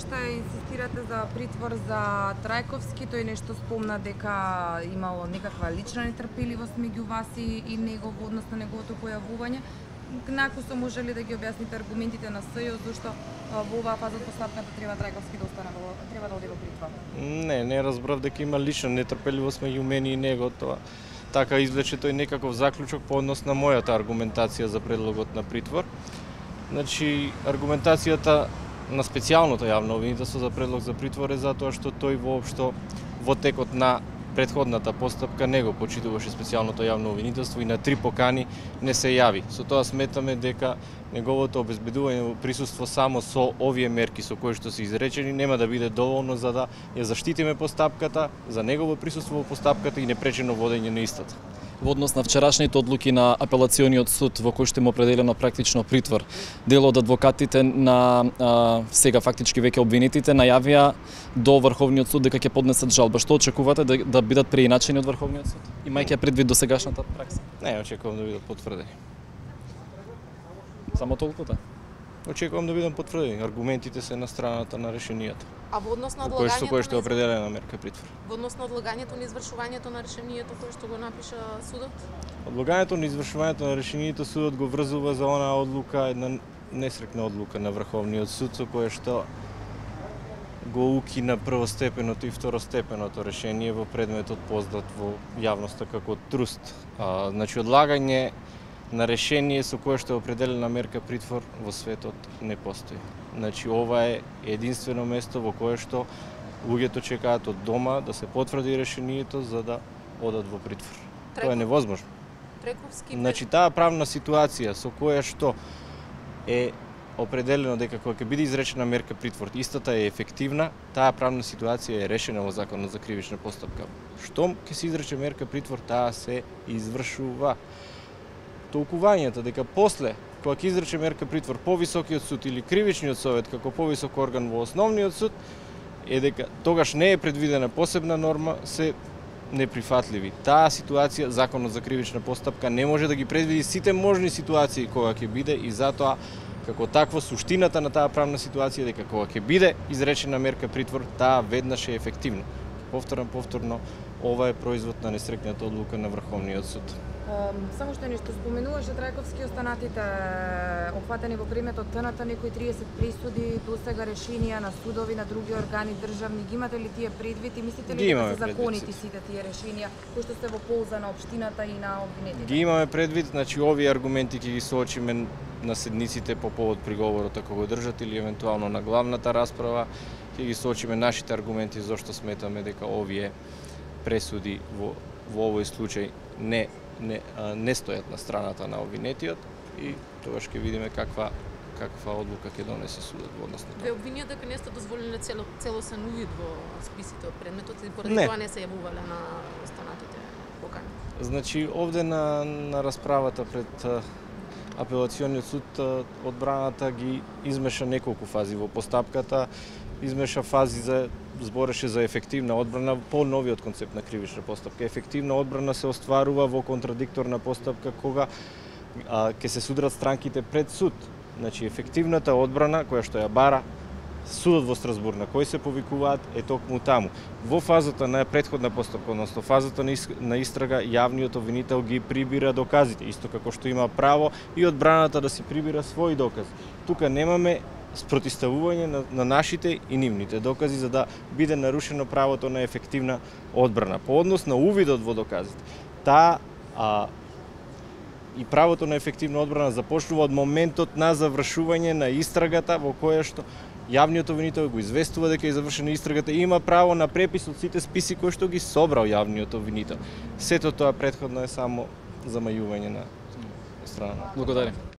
уште инсистирате за притвор за Трајковски, тој нешто спомна дека имало некаква лична нетрпеливост меѓу вас и него во однос на неговото појавување. Накусо може ли да ги објасните аргументите на СЈО зашто во оваа фаза од постапката треба Трајковски да остане треба да оди во притвор? Не разбрав дека има лична нетрпеливост меѓу мене и него, тоа така извлече тој некаков заклучок по однос на мојата аргументација за предлогот на притвор. Значи, аргументацијата на специјалното јавно обвинителство за предлог за притвор е затоа што тој воопшто во текот на претходната постапка не го почитуваше специјалното јавно обвинителство и на 3 покани не се јави. Со тоа сметаме дека неговото обезбедување во присуство само со овие мерки со кои што се изречени нема да биде доволно за да ја заштитиме постапката, за негово присуство во постапката и непречено водење на истата. Во однос на вчерашните одлуки на апелациониот суд во кој што му определено практично притвор, дел од адвокатите на сега фактички веќе обвинетите најавија до Врховниот суд дека ќе поднесат жалба. Што очекувате да бидат преиначени од Врховниот суд? Имајќи предвид досегашната пракса? Не, очекувам да бидат потврдени. Само толкова? Очекувам да бидат потврдени. Аргументите се на страната на решенијата. А во однос на одлагањето кој што е определена мерка притвор. Во однос на одлагањето на извршувањето на решението кој што го напиша судот? Одлагањето на извршувањето на решението судот го врзува за онаа одлука, една несрекна одлука на Врховниот суд со кое што го укина првостепеното и второстепеното решение во предметот познат во јавноста како труст. Значи, одлагање на решение со кое што е определена мерка притвор во светот не постои. Значи, ова е единствено место во кое што луѓето чекаат од дома да се потврди решението за да одат во притвор. Тоа е невозможно. Значи, таа правна ситуација со која што е определено дека кога ќе биде изречена мерка притвор, истата е ефективна, таа правна ситуација е решена во Законот за кривична постапка. Штом ќе се изрече мерка притвор, таа се извршува. Толкувањето дека после, кога ќе изрече мерка притвор повисокиот суд или кривичниот совет како повисок орган во основниот суд, е дека тогаш не е предвидена посебна норма, се неприфатливи. Таа ситуација, Законот за кривична постапка не може да ги предвиди сите можни ситуации кога ќе биде и затоа како такво суштината на таа правна ситуација дека кога ќе биде изречена мерка притвор, таа веднаш е ефективна. Повторно, ова е производ на несрекната одлука на Врховниот суд. Само што нешто споменуваше Трајковски, останатите опфатени во предметот ТНТ, некои 30 присуди, досега решенија на судови, на други органи државни, ги имате ли тие предвид и мислите ли дека се законити сите тие решенија кои што се во полза на општината и на обвинетите? Ги имаме предвид, значи овие аргументи ќе ги соочиме на седниците по повод приговорот ако го држат или евентуално на главната расправа, ќе ги соочиме нашите аргументи зашто сметаме дека овие пресуди во овој случај не стојат на страната на обвинетиот и тогаш ќе видиме каква одлука ќе донесе судот во однос на тоа. Ве обвинија дека не сте дозволиле целосен увид во списите од предметот и поради тоа не се јавувале на останатите покани. Значи, овде на расправата пред апелациониот суд одбраната ги измеша неколку фази во постапката, измеша фази збореше за ефективна одбрана по новиот концепт на кривична постапка. Ефективна одбрана се остварува во контрадикторна постапка кога ќе се судрат странките пред суд. Значи, ефективната одбрана која што ја бара судот во Страсбур на кој се повикуваат е токму таму. Во фазата на претходна постапка, односно фазата на истрага, јавниот обвинител ги прибира доказите, исто како што има право и одбраната да си прибира своји докази. Тука немаме спротивставување на нашите и нивните докази за да биде нарушено правото на ефективна одбрана. По однос на увидот во доказите, и правото на ефективна одбрана започнува од моментот на завршување на истрагата во која што јавниот обвинител го известува дека е завршена истрагата и има право на препис од сите списи кои што ги собрал јавниот обвинител. Сето тоа претходно е само замајување на страна. Благодарам.